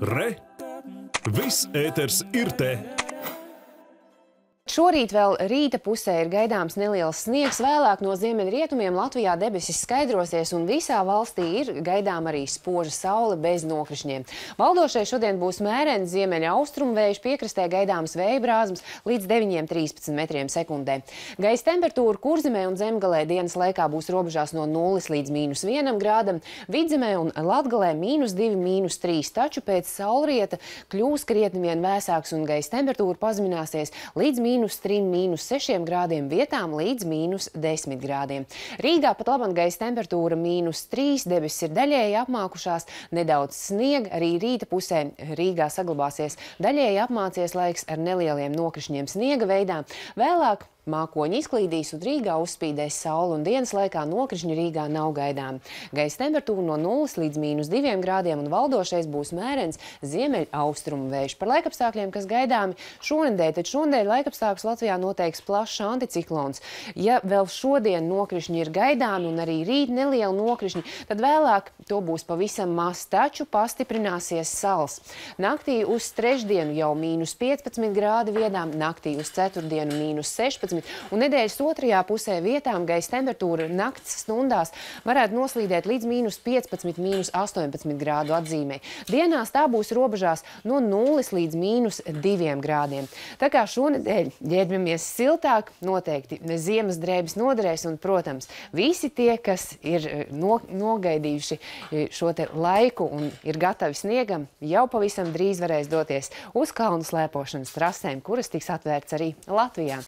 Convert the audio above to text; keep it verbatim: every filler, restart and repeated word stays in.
Re! Viss ēters ir te! Šorīt vēl rīta pusē ir gaidāms neliels sniegs, vēlāk no ziemeļrietumiem Latvijā debesis skaidrosies un visā valstī ir gaidām arī spoža saule bez nokrišņiem. Valdošais šodien būs mērens ziemeļa austrumvējš, piekrastē gaidāms vēja brāzmas līdz deviņiem trīspadsmit metriem sekundē. Gaisa temperatūra Kurzemē un Zemgalē dienas laikā būs robežās no nulles līdz mīnus vienam grādam, Vidzemē un Latgalē mīnus divi, mīnus trīs, taču pēc saulrieta kļūs krietni vien vēsāks un gaisa temperatūra pazemināsies līdz mīnus trim, mīnus sešiem grādiem, vietām līdz mīnus desmit grādiem. Rīgā pat labam gaisa temperatūra mīnus trīs, debesis ir daļēji apmākušās, nedaudz sniega, arī rīta pusē Rīgā saglabāsies daļēji apmācies laiks ar nelieliem nokrišņiem sniega veidā. Vēlāk mākoņi izklīdīs un Rīgā uzspīdēs saule un dienas laikā nokrišņu Rīgā nav gaidām. Gaisa temperatūra no nulles līdz mīnus diviem grādiem un valdošais būs mērens ziemeļa austrumu vējš. Par laikapstākļiem, kas gaidāmi šonedēļ, tad šonedēļ laikapstākļus Latvijā noteiks plašs anticiklons. Ja vēl šodien nokrišņi ir gaidāmi un arī rīt neliela nokrišņi, tad vēlāk to būs pavisam maz, taču pastiprināsies sals. Naktī uz trešdienu jau mīnus piecpadsmit grādi viedām, naktī uz ceturtdienu mīnus sešpadsmit. Un nedēļas otrajā pusē vietām gaisa temperatūra nakts stundās varētu noslīdēt līdz mīnus piecpadsmit, mīnus astoņpadsmit grādu atzīmē. Dienās tā būs robežās no nulles līdz mīnus diviem grādiem. Tā kā šonedēļ ģērbjamies siltāk, noteikti ziemas drēbes noderēs un, protams, visi tie, kas ir no, nogaidījuši šo te laiku un ir gatavi sniegam, jau pavisam drīz varēs doties uz kalnu slēpošanas trasēm, kuras tiks atvērts arī Latvijā.